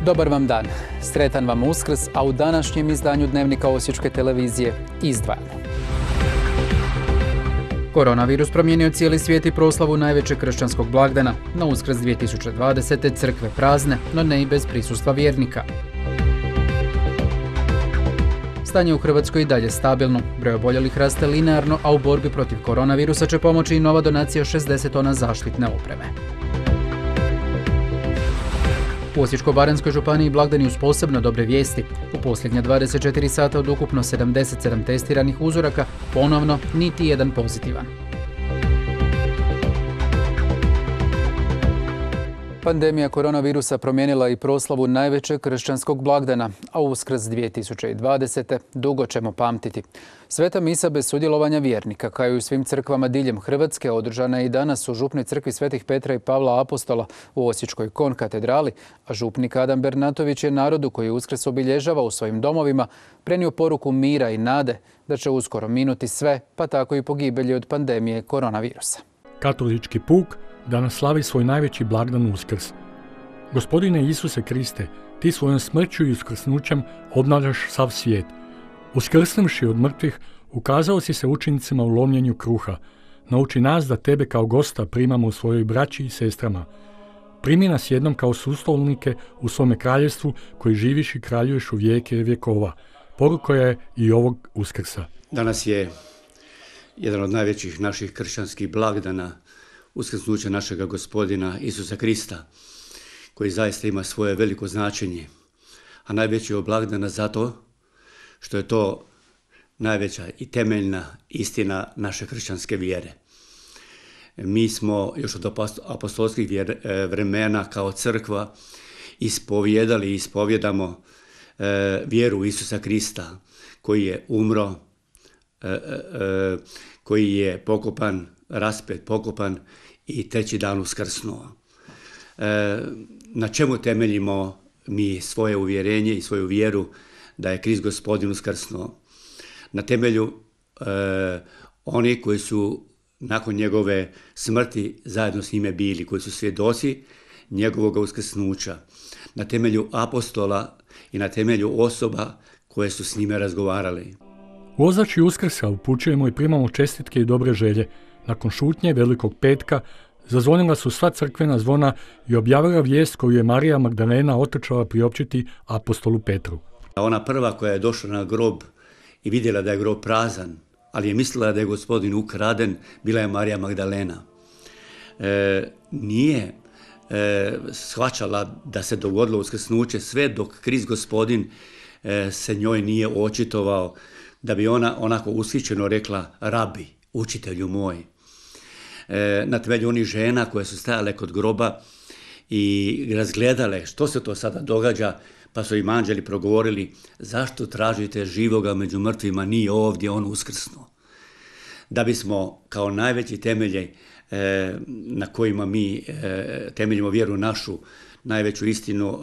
Dobar vam dan, sretan vam Uskrs, a u današnjem izdanju Dnevnika Osječke televizije izdvajamo. Koronavirus promijenio cijeli svijet i proslavu najvećeg kršćanskog blagdana. Na Uskrs 2020. crkve prazne, no ne i bez prisustva vjernika. Stanje u Hrvatskoj i dalje stabilno. Broj oboljelih raste linearno, a u borbi protiv koronavirusa će pomoći i nova donacija 60 tona zaštitne opreme. U Osječko-baranjskoj županiji blagdani uz posebno dobre vijesti. U posljednja 24 sata od ukupno 77 testiranih uzoraka ponovno niti jedan pozitivan. Pandemija koronavirusa promijenila i proslavu najvećeg kršćanskog blagdana, a Uskrs 2020. dugo ćemo pamtiti. Sveta misa bez sudjelovanja vjernika, kao i u svim crkvama diljem Hrvatske, održana je i danas u župnoj crkvi Svetih Petra i Pavla Apostola u Osječkoj konkatedrali, a župnik Adam Bernatović je narodu koji Uskrs obilježava u svojim domovima prenio poruku mira i nade da će uskoro minuti sve, pa tako i pogibelji od pandemije koronavirusa. Katolički puk danas slavi svoj najveći blagdan Uskrs. Gospodine Isuse Kriste, ti svojom smrću i uskrsnućem obnavljaš sav svijet. Uskrsnuvši od mrtvih, ukazao si se učenicima u lomljenju kruha. Nauči nas da tebe kao gosta primamo u svojoj braći i sestrama. Primi nas jednom kao sustolnike u svome kraljevstvu koji živiš i kraljuješ u vijeke vjekova. Poruka je i ovog Uskrsa. Danas je jedan od najvećih naših kršćanskih blagdana, uskrsnuće našega Gospodina Isusa Krista, koji zaista ima svoje veliko značenje. A najveći je blagdana zato što je to najveća i temeljna istina naše kršćanske vjere. Mi smo još od apostolskih vremena kao crkva ispovijedali i ispovjedamo vjeru Isusa Krista, koji je umro, koji je pokopan, raspet, pokopan i treći dan uskrsnuo. Na čemu temeljimo mi svoje uvjerenje i svoju vjeru da je Krist Gospodin uskrsnuo? Na temelju oni koji su nakon njegove smrti zajedno s njime bili, koji su svjedoci njegovog uskrsnuća, na temelju apostola i na temelju osoba koje su s njime razgovarali. U ozračju Uskrsa upućujemo i primamo čestitke i dobre želje. Nakon šutnje Velikog petka zazvonila su sva crkvena zvona i objavila vijest koju je Marija Magdalena otrčala priopćiti apostolu Petru. Ona prva koja je došla na grob i vidjela da je grob prazan, ali je mislila da je Gospodin ukraden, bila je Marija Magdalena. Nije shvaćala da se dogodilo uskrsnuće sve dok Krist Gospodin se njoj nije očitovao, da bi ona onako ushićeno rekla rabi, učitelju moj. Na temelju onih žena koje su stajale kod groba i razgledale što se to sada događa, pa su im anđeli progovorili zašto tražite živoga među mrtvima, nije ovdje, on uskrsnuo. Da bismo kao najveći temelje na kojima mi temeljimo vjeru našu, najveću istinu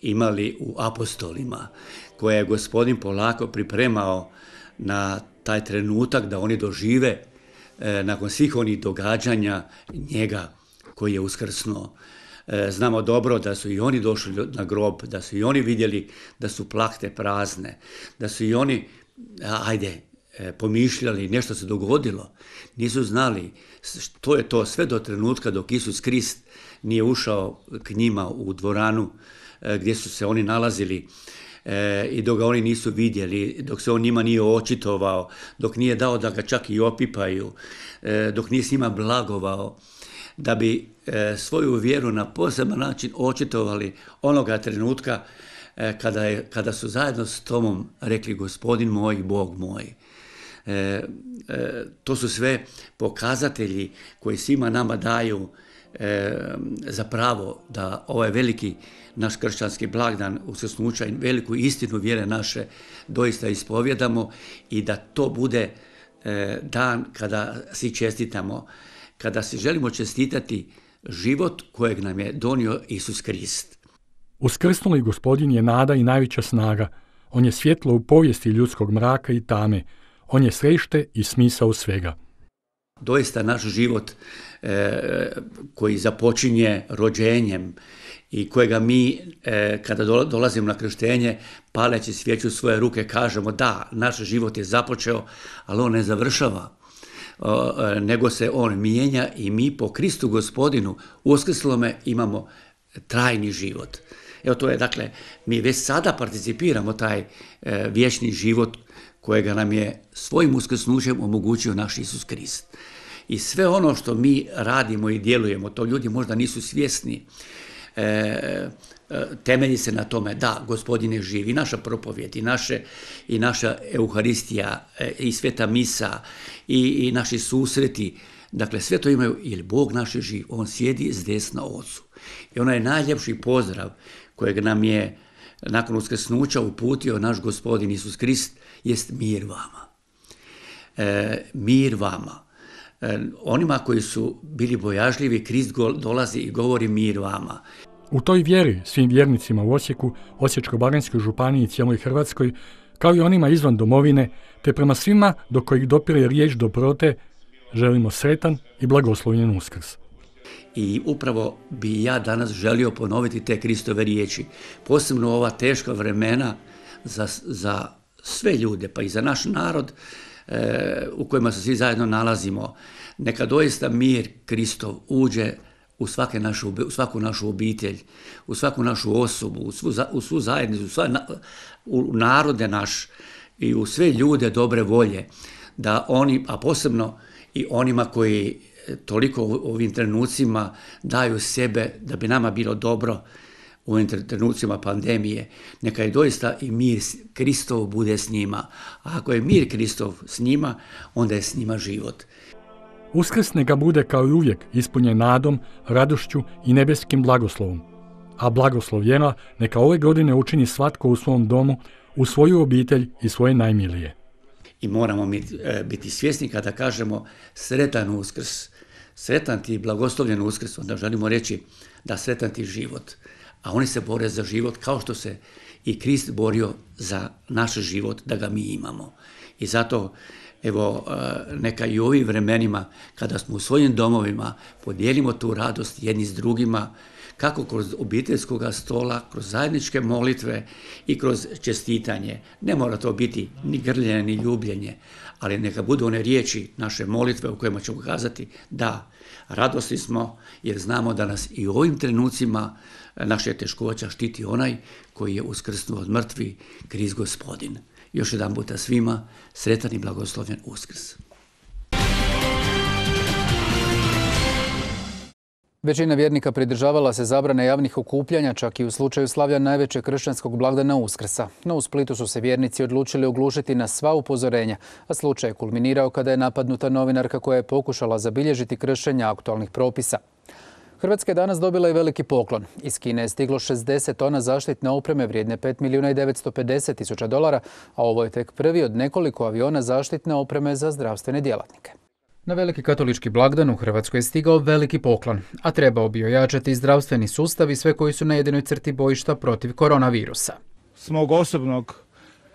imali u apostolima, koje je Gospodin polako pripremao na taj trenutak da oni dožive nakon svih onih događanja njega koji je uskrsnuo. Znamo dobro da su i oni došli na grob, da su i oni vidjeli da su plahte prazne, da su i oni, pomišljali, nešto se dogodilo. Nisu znali što je to sve do trenutka dok Isus Krist nije ušao k njima u dvoranu gdje su se oni nalazili i dok ga oni nisu vidjeli, dok se on njima nije očitovao, dok nije dao da ga čak i opipaju, dok nije s njima blagovao, da bi svoju vjeru na poseban način očitovali onoga trenutka kada su zajedno s Tomom rekli Gospodin moj i Bog moj. To su sve pokazatelji koji svima nama daju za pravo da ovaj veliki naš kršćanski blagdan uskrsnuća i veliku istinu vjere naše doista ispovjedamo i da to bude dan kada si čestitamo, kada si želimo čestitati život kojeg nam je donio Isus Krist. Uskrsnuli Gospodin je nada i najveća snaga. On je svjetlo u povijesti ljudskog mraka i tame. On je središte i smisao svega. doista naš život koji započinje rođenjem i kojega mi, kada dolazimo na krštenje, paleći svijeću svoje ruke, kažemo da, naš život je započeo, ali on ne završava, nego se on mijenja i mi po Kristu Gospodinu uskrslome imamo trajni život. Evo to je, dakle, mi već sada participiramo taj vječni život kojega nam je svojim uskrsnućem omogućio naš Isus Krist. I sve ono što mi radimo i djelujemo, to ljudi možda nisu svjesni, temelji se na tome da Gospodin je živ, i naša propovjed, i naša Euharistija, i sveta misa, i naši susreti. Dakle, sve to imaju, jer Bog naš je živ, on sjedi s desna Ocu. I onaj najljepši pozdrav kojeg nam je nakon uskrsnuća uputio naš Gospodin Isus Krist jest mir vama. Mir vama. Onima koji su bili bojažljivi, Krist dolazi i govori mir vama. U toj vjeri svim vjernicima u Osijeku, Osječko-baranjskoj županiji i cijeloj Hrvatskoj, kao i onima izvan domovine, te prema svima do kojih dopire riječ dobrote, želimo sretan i blagoslovljen Uskrs. I upravo bi ja danas želio ponoviti te Kristove riječi, posebno ova teška vremena za sve ljude, pa i za naš narod u kojima se svi zajedno nalazimo. Neka doista mir Kristov uđe u svaku našu obitelj, u svaku našu osobu, u svu zajednicu, u narode naš i u sve ljude dobre volje, da oni, a posebno i onima koji toliko u ovim trenucima daju sebe da bi nama bilo dobro u ovim trenucima pandemije, neka je doista i mir Kristov bude s njima. A ako je mir Kristov s njima, onda je s njima život. Uskrs neka bude kao i uvijek ispunjen nadom, radošću i nebeskim blagoslovom. A blagoslovljena neka ove godine učini svatko u svom domu, u svoju obitelj i svoje najmilije. I moramo biti svjesni kada kažemo sretan Uskrs, sretan ti blagoslovljen Uskrs, onda želimo reći da sretan ti život. A oni se bore za život kao što se i Krist borio za naš život, da ga mi imamo. I zato, evo, neka i u ovim vremenima, kada smo u svojim domovima, podijelimo tu radost jedni s drugima, kako kroz obiteljskog stola, kroz zajedničke molitve i kroz čestitanje. Ne mora to biti ni grljenje, ni ljubljenje, ali neka budu one riječi naše molitve u kojima ćemo kazati da, radosni smo jer znamo da nas i u ovim trenucima naše teškoća štiti onaj koji je uskrsnuo od mrtvi, Krist Gospodin. Još jedan puta svima sretan i blagoslovljen Uskrs. Većina vjernika pridržavala se zabrane javnih okupljanja, čak i u slučaju slavlja najvećeg kršćanskog blagdana Uskrsa. No u Splitu su se vjernici odlučili oglušiti na sva upozorenja, a slučaj je kulminirao kada je napadnuta novinarka koja je pokušala zabilježiti kršenja aktualnih propisa. Hrvatska je danas dobila i veliki poklon. Iz Kine je stiglo 60 tona zaštitne opreme vrijedne $5.950.000, a ovo je tek prvi od nekoliko aviona zaštitne opreme za zdravstvene djelatnike. Na veliki katolički blagdan u Hrvatskoj je stigao veliki poklon, a trebao bi ojačati zdravstveni sustav i sve koji su na jedinoj crti bojišta protiv koronavirusa. S mog osobnog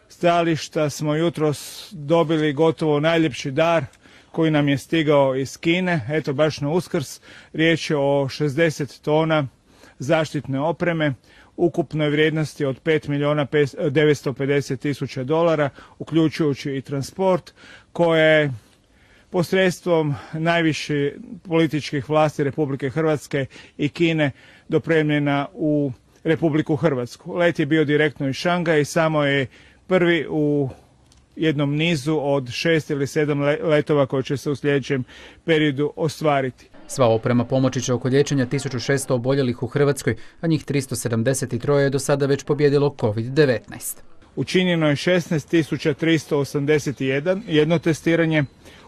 stajališta smo jutros dobili gotovo najljepši dar koji nam je stigao iz Kine, eto baš na Uskrs. Riječ je o 60 tona zaštitne opreme, ukupnoj vrijednosti od $5.950.000, uključujući i transport, koje je posredstvom najviših političkih vlasti Republike Hrvatske i Kine dopremljena u Republiku Hrvatsku. Let je bio direktno iz Šangaja i samo je prvi u jednom nizu od 6 ili 7 letova koji će se u sljedećem periodu ostvariti. Sva oprema pomoći će oko liječenja 1600 oboljelih u Hrvatskoj, a njih 373 je do sada već pobijedilo COVID-19. Učinjeno je 16.381 testiranje,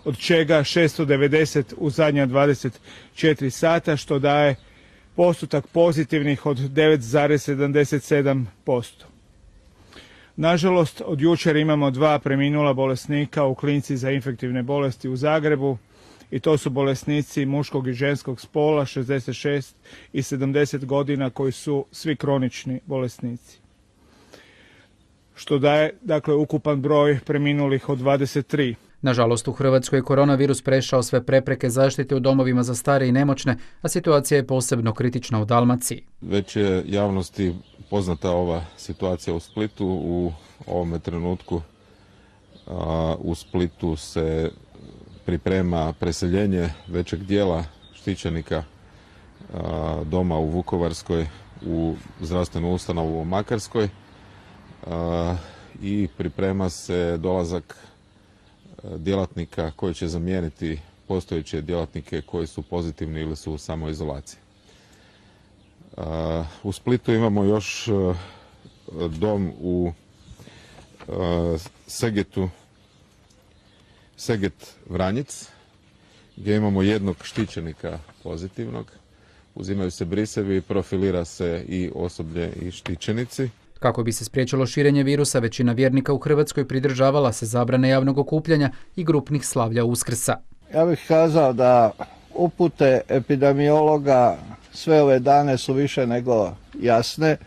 od čega 690 u zadnja 24 sata, što daje postotak pozitivnih od 9,77%. Nažalost, od jučer imamo 2 preminula bolesnika u klinici za infektivne bolesti u Zagrebu, i to su bolesnici muškog i ženskog spola, 66 i 70 godina, koji su svi kronični bolesnici. Što daje, dakle, ukupan broj preminulih od 23. Nažalost, u Hrvatskoj je koronavirus prešao sve prepreke zaštite u domovima za stare i nemoćne, a situacija je posebno kritična u Dalmaciji. Već je javnosti poznata ova situacija u Splitu. U ovome trenutku u Splitu se priprema preseljenje većeg dijela štićenika doma u Vukovarskoj u zdravstvenu ustanovu u Makarskoj i priprema se dolazak djelatnika koji će zamijeniti postojeće djelatnike koji su pozitivni ili su u samoizolaciji. U Splitu imamo još dom u Seget Vranjic, gdje imamo jednog štićenika pozitivnog. Uzimaju se brisevi, profilira se i osoblje i štićenici. Kako bi se spriječilo širenje virusa, većina vjernika u Hrvatskoj pridržavala se zabrane javnog okupljanja i grupnih slavlja Uskrsa. Ja bih kazao da upute epidemiologa sve ove dane su više nego jasne.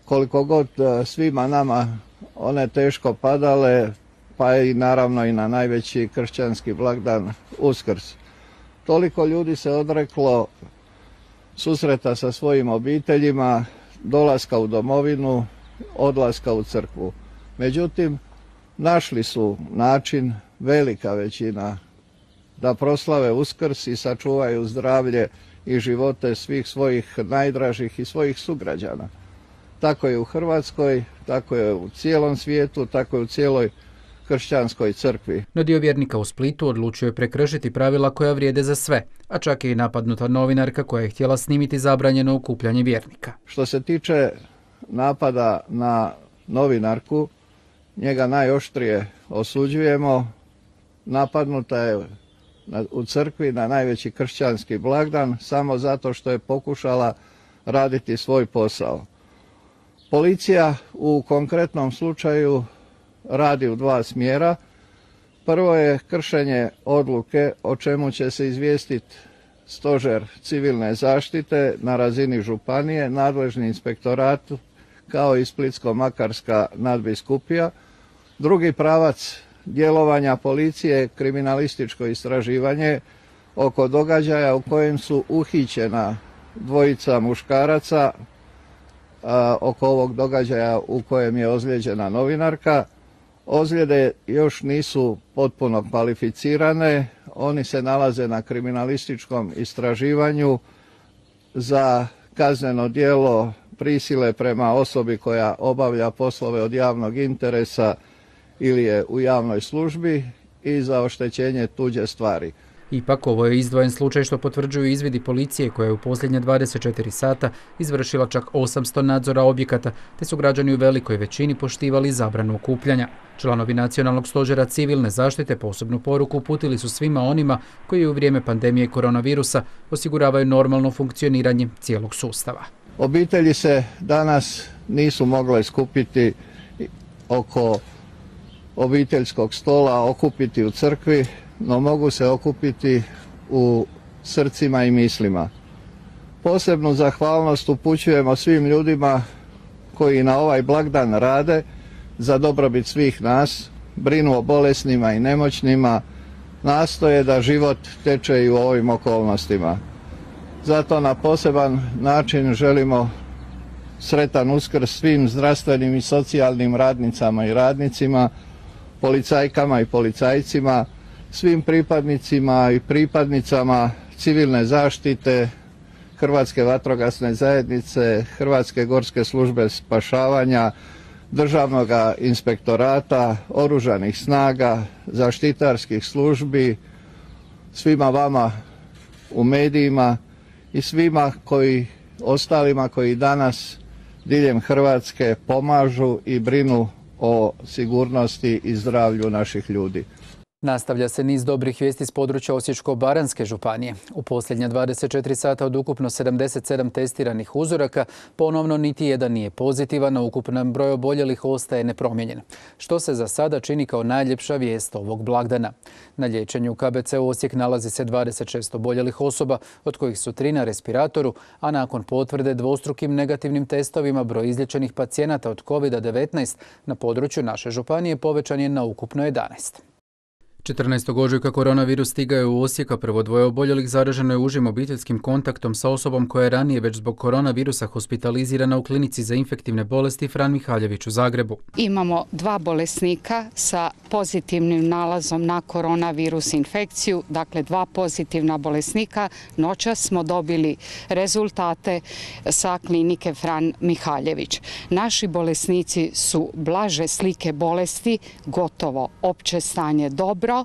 Koliko god svima nama one teško padale, pa i naravno i na najveći kršćanski blagdan Uskrs. Toliko ljudi se odreklo susreta sa svojim obiteljima, dolaska u domovinu, odlaska u crkvu. Međutim, našli su način, velika većina, da proslave Uskrs i sačuvaju zdravlje i živote svih svojih najdražih i svojih sugrađana. Tako je u Hrvatskoj, tako je u cijelom svijetu, tako je u cijeloj kršćanskoj crkvi. No dio vjernika u Splitu odlučio je prekršiti pravila koja vrijede za sve, a čak je i napadnuta novinarka koja je htjela snimiti zabranjeno okupljanje vjernika. Što se tiče napada na novinarku, njega najoštrije osuđujemo. Napadnuta je u crkvi na najveći kršćanski blagdan samo zato što je pokušala raditi svoj posao. Policija u konkretnom slučaju radi u dva smjera. Prvo je kršenje odluke o čemu će se izvijestiti Stožer civilne zaštite na razini županije, nadležni inspektorat kao i Splitsko-makarska nadbiskupija. Drugi pravac djelovanja policije je kriminalističko istraživanje oko događaja u kojem su uhićena dvojica muškaraca, oko ovog događaja u kojem je ozlijeđena novinarka. Ozljede još nisu potpuno kvalificirane, oni se nalaze na kriminalističkom istraživanju za kazneno djelo prisile prema osobi koja obavlja poslove od javnog interesa ili je u javnoj službi i za oštećenje tuđe stvari. Ipak, ovo je izdvojen slučaj što potvrđuju izvidi policije koja je u posljednje 24 sata izvršila čak 800 nadzora objekata, te su građani u velikoj većini poštivali zabranu okupljanja. Članovi Nacionalnog stožera civilne zaštite posebnu poruku uputili su svima onima koji u vrijeme pandemije koronavirusa osiguravaju normalno funkcioniranje cijelog sustava. Obitelji se danas nisu mogle skupiti oko obiteljskog stola, okupiti u crkvi, no mogu se okupiti u srcima i mislima. Posebnu zahvalnost upućujemo svim ljudima koji na ovaj blagdan rade za dobrobit svih nas, brinu o bolesnima i nemoćnima, nastoje da život teče i u ovim okolnostima. Zato na poseban način želimo sretan Uskrs svim zdravstvenim i socijalnim radnicama i radnicima, policajkama i policajcima, svim pripadnicima i pripadnicama civilne zaštite, Hrvatske vatrogasne zajednice, Hrvatske gorske službe spašavanja, Državnog inspektorata, oružanih snaga, zaštitarskih službi, svima vama u medijima i svima ostalima koji danas diljem Hrvatske pomažu i brinu o sigurnosti i zdravlju naših ljudi. Nastavlja se niz dobrih vijesti s područja Osječko-baranjske županije. U posljednja 24 sata od ukupno 77 testiranih uzoraka ponovno niti jedan nije pozitivan, a ukupan broj oboljelih ostaje nepromijenjen, što se za sada čini kao najljepša vijest ovog blagdana. Na liječenju u KBC-u Osijek nalazi se 26 oboljelih osoba, od kojih su 3 na respiratoru, a nakon potvrde dvostrukim negativnim testovima broj izliječenih pacijenata od COVID-19 na području naše županije povećan je na ukupno 11. 14. ožujka koronavirus stigao je u Osijek, a prvo dvoje oboljelih zaraženo je užim obiteljskim kontaktom sa osobom koja je ranije već zbog koronavirusa hospitalizirana u klinici za infektivne bolesti Fran Mihaljević u Zagrebu. Imamo 2 bolesnika sa pozitivnim nalazom na koronavirus infekciju, dakle 2 pozitivna bolesnika. Noćas smo dobili rezultate sa klinike Fran Mihaljević. Naši bolesnici su blaže slike bolesti, gotovo opće stanje dobro.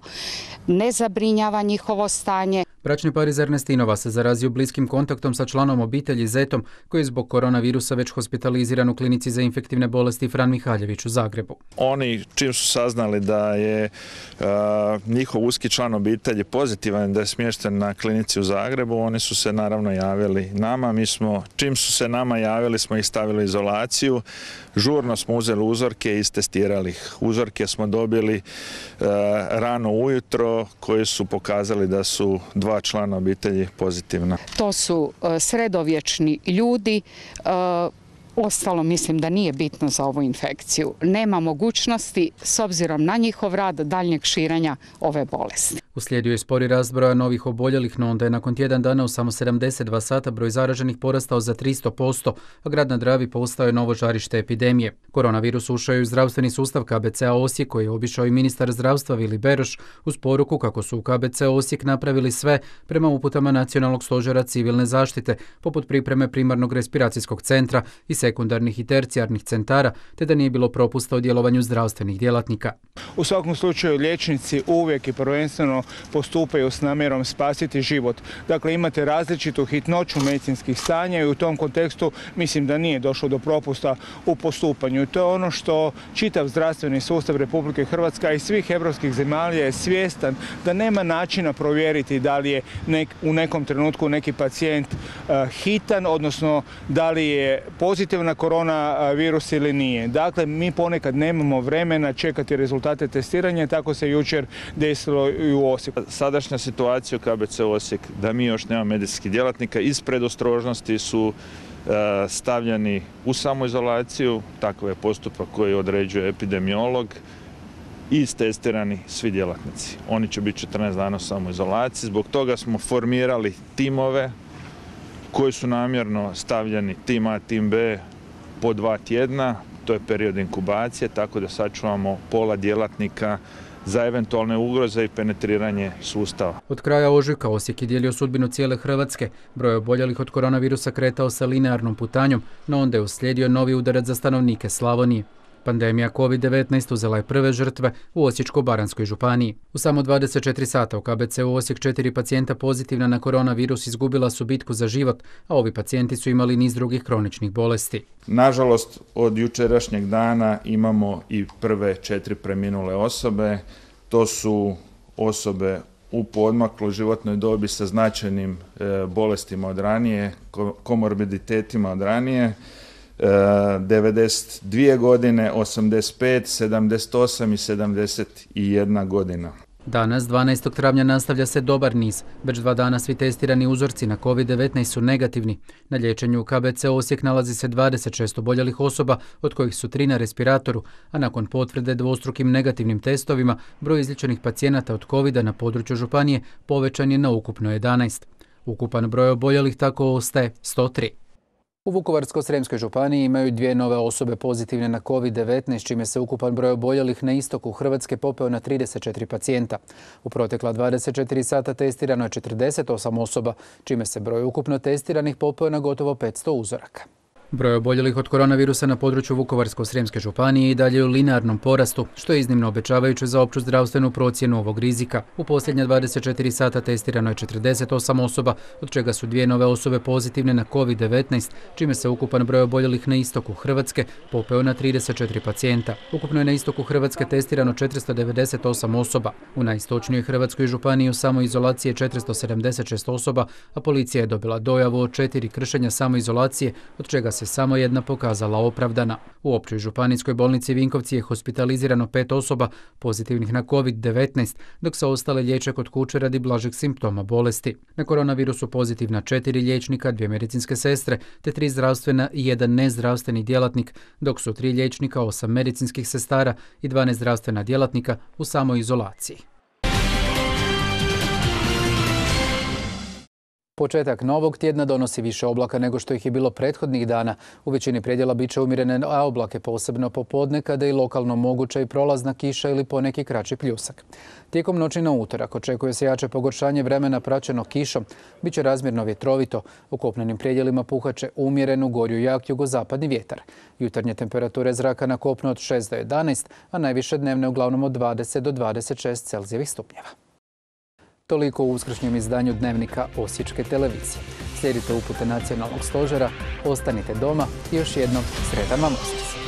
Ne zabrinjava njihovo stanje. Bračni par iz Ernestinova se zarazio bliskim kontaktom sa članom obitelji Zetom, koji je zbog koronavirusa već hospitaliziran u klinici za infektivne bolesti Fran Mihaljević u Zagrebu. Oni čim su saznali da je njihov uski član obitelji pozitivan, da je smješten na klinici u Zagrebu, oni su se naravno javili nama. Čim su se nama javili, smo ih stavili u izolaciju. Žurno smo uzeli uzorke i istestirali ih. Uzorke smo dobili rano ujutro, koji su pokazali da su 2 člana obitelji pozitivna. To su sredovječni ljudi. Ostalo mislim da nije bitno za ovu infekciju. Nema mogućnosti, s obzirom na njihov rad, daljnjeg širenja ove bolesti. Uslijedio je spori rast broja novih oboljelih, no onda je nakon tjedan dana u samo 72 sata broj zaraženih porastao za 300%, a grad na Dravi postao je novo žarište epidemije. Koronavirus ušao je u zdravstveni sustav KBC-a Osijek, koji je obišao i ministar zdravstva Vili Beroš uz poruku kako su u KBC Osijek napravili sve prema uputama Nacionalnog stožera civilne zaštite, poput pripreme primarnog respiracijskog centra i sekundarnih i tercijarnih centara, te da nije bilo propusta u djelovanju zdravstvenih djelatnika. U svakom slučaju liječnici uvijek i prvenstveno postupaju s namjerom spasiti život. Dakle, imate različitu hitnoću medicinskih stanja i u tom kontekstu mislim da nije došlo do propusta u postupanju. To je ono što čitav zdravstveni sustav Republike Hrvatske i svih europskih zemalja je svjestan da nema načina provjeriti da li je u nekom trenutku neki pacijent hitan, odnosno da li je pozitivan na koronavirus ili nije. Dakle, mi ponekad nemamo vremena čekati rezultate testiranja, tako se jučer desilo i u Osijeku. Sadašnja situacija u KBC Osijek, da mi još nema medicinskih djelatnika, iz predostrožnosti su stavljeni u samoizolaciju, takav je postupak koji određuje epidemiolog, i istestirani svi djelatnici. Oni će biti 14 dana u samoizolaciji, zbog toga smo formirali timove koji su namjerno stavljeni tim A, tim B po 2 tjedna, to je period inkubacije, tako da sačuvamo pola djelatnika za eventualne ugroze i penetriranje sustava. Od kraja ožujka Osijek je dijelio sudbinu cijele Hrvatske. Broj oboljelih od koronavirusa kretao se linearnom putanjom, no onda je uslijedio novi udarac za stanovnike Slavonije. Pandemija COVID-19 uzela je prve žrtve u Osječko-baranjskoj županiji. U samo 24 sata u KBC-u Osijek 4 pacijenta pozitivna na koronavirus izgubila su bitku za život, a ovi pacijenti su imali niz drugih kroničnih bolesti. Nažalost, od jučerašnjeg dana imamo i prve 4 preminule osobe. To su osobe u poodmakloj životnoj dobi sa značajnim bolestima od ranije, komorbiditetima od ranije. 92 godine, 85, 78 i 71 godina. Danas, 12. travnja, nastavlja se dobar niz. Već 2 dana svi testirani uzorci na COVID-19 su negativni. Na liječenju u KBC Osijek nalazi se 26 oboljelih osoba, od kojih su 3 na respiratoru, a nakon potvrde dvostrukim negativnim testovima, broj izliječenih pacijenata od COVID-a na području županije povećan je na ukupno 11. Ukupan broj oboljelih tako ostaje 103. U Vukovarsko-srijemskoj županiji imaju 2 nove osobe pozitivne na COVID-19, čime se ukupan broj oboljelih na istoku Hrvatske popeo na 34 pacijenta. U protekla 24 sata testirano je 48 osoba, čime se broj ukupno testiranih popeo na gotovo 500 uzoraka. Broj oboljelih od koronavirusa na području Vukovarsko-srijemske županije i dalje u linearnom porastu, što je iznimno obećavajuće za opću zdravstvenu procjenu ovog rizika. U posljednja 24 sata testirano je 48 osoba, od čega su 2 nove osobe pozitivne na COVID-19, čime se ukupan broj oboljelih na istoku Hrvatske popeo na 34 pacijenta. Ukupno je na istoku Hrvatske testirano 498 osoba. U najistočnijoj Hrvatskoj županiji u samoizolaciji je 476 osoba, a policija je dobila dojavu od 4 kršenja samoizolacije, od čega se samo 1 pokazala opravdana. U općoj županijskoj bolnici Vinkovci je hospitalizirano 5 osoba pozitivnih na COVID-19, dok se ostale liječe kod kuće radi blažeg simptoma bolesti. Na koronavirusu pozitivna 4 liječnika, 2 medicinske sestre, te 3 zdravstvena i 1 nezdravstveni djelatnik, dok su 3 liječnika, 8 medicinskih sestara i 12 zdravstvena djelatnika u samoizolaciji. Početak novog tjedna donosi više oblaka nego što ih je bilo prethodnih dana. U većini predjela bit će umjerene oblake, posebno popodne kada je i lokalno moguća i prolazna kiša ili poneki kraći pljusak. Tijekom noći na utorak očekuje se jače pogoršanje vremena praćeno kišom. Biće razmjerno vjetrovito. U kopnenim predjelima puhat će umjeren u gorju jak jugozapadni vjetar. Jutarnje temperature zraka na kopnu od 6 do 11, a najviše dnevne uglavnom od 20 do 26 Celzijevih stupnjeva. Toliko u uskršnjem izdanju Dnevnika Osječke televizije. Slijedite upute nacionalnog stožera, ostanite doma i još jednom sretan vam Uskrs.